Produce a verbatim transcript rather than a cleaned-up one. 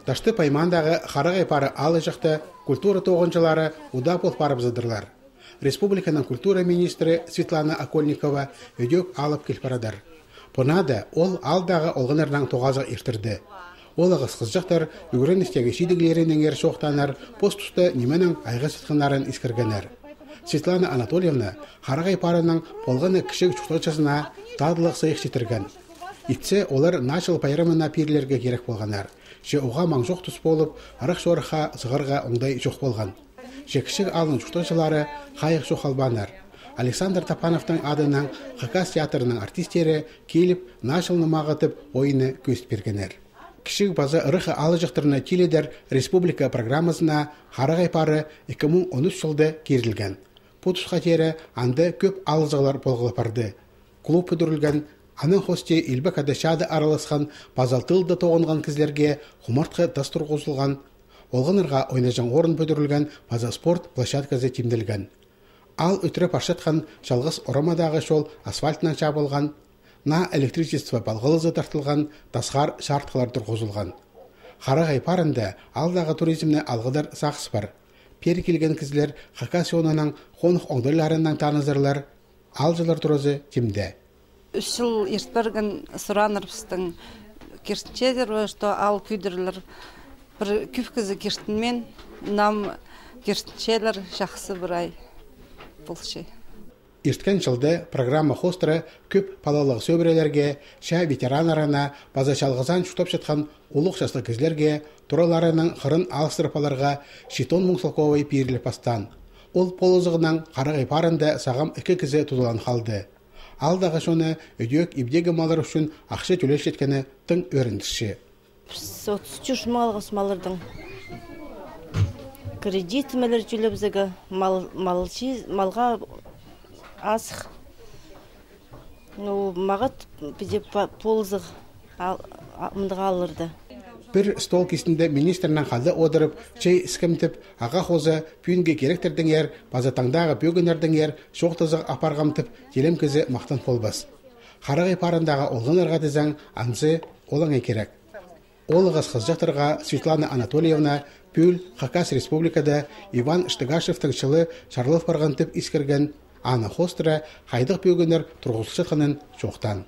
Ташты паймандағы қарағай пары алы жақты культура тоғынчылары уда бол парып задырлар. Республиканың культура министрі Светлана Окольникова өдек алып келпарадар. Понады ол алдағы олғынырдан тоғазық ертірді. Ол ағыз қызжақтар үгірін істегі шидігілерінің ер шоқтанар, постусты неменің айғы сытқынларын искіргенер. Светлана Анатольевна қарағай парының болғаны кіші чуқталчасына тадылық сайық жетірген. Итсе олар начал пайрымына перлерге керек болғанар. Же оға маң жоқ тұс болып, арық шорыға зығырға оңдай жоқ болған. Же кішік алын чуқталчылары қайық жоқ албанар. Александр Тапановтың адының Хакас театрының артистері келіп, началны мағытып ойыны көст бергенер. Кішік базы ұрықы алы жақтырына теледер республика программасына қарағай пары екі мың он үш жылды керілген. Потусқа тері анды көп алызығылар болғылы барды. Клуб үдірілген, аның хосте елбек адашады араласқан базалтылды тоғынған кізлерге құмартқы дастыр қосылған, олғынырға ойнажан орын бөдірілген база спорт площадкасы темділген. Ал үтіріп ашытқан жалғыз орамадағы жол асфальтынан жабылған, на электричество балғылызы тартылған, тасқар шартқылар тұрғызылған. Қарағай парында алдағы туризмні алғыдар сақсы бар. Пері келген кізлер Хакасионының қонық оңдырларынан танызырлар, алжылар тұрызы темді. Үш жыл ертбірген сұранырпыстың керсінчедер, что ал күйдірлер бір күфкізі керстінмен, нам керсінчелер жақсы бір ай болшы. Ерткен жылды программа хостыры көп палалық сөбірелерге, ша ветеранарына, база шалғызан шутап жатқан ұлық жасlı кізлерге, тұраларының қырын алыстырпаларға шитон мұңсылковай пейірлі пастан. Ол полызығынан қарағай парында сағам екі кізі тұдылан қалды. Алдағы шоны өдек ебдегі малар үшін ақшы төлеш жеткені тың өріндіші. отыз үш малғыз малырдың кредит мәлір жүлі бізігі малға асық. Мағыт бізде полызық мұндыға алырды. Бір стол кесінде министрінің қалды одырып, чай іскімтіп, аға қозы пүйінге керектердің ер, базатаңдағы бөгінердің ер, шоқтызық апарғамтып, телем кізі мақтан болбас. Қарағай парындағы олғынырға дізің, анзы олаңай керек. Олығыз қызжақтырға Светлана Анатольевна пүл Хакас республикада Иван Штыгашевтың шылы шарлық барғантып искірген аны хостыра қайдық бөгінер тұрғылшы қынын жоқтан.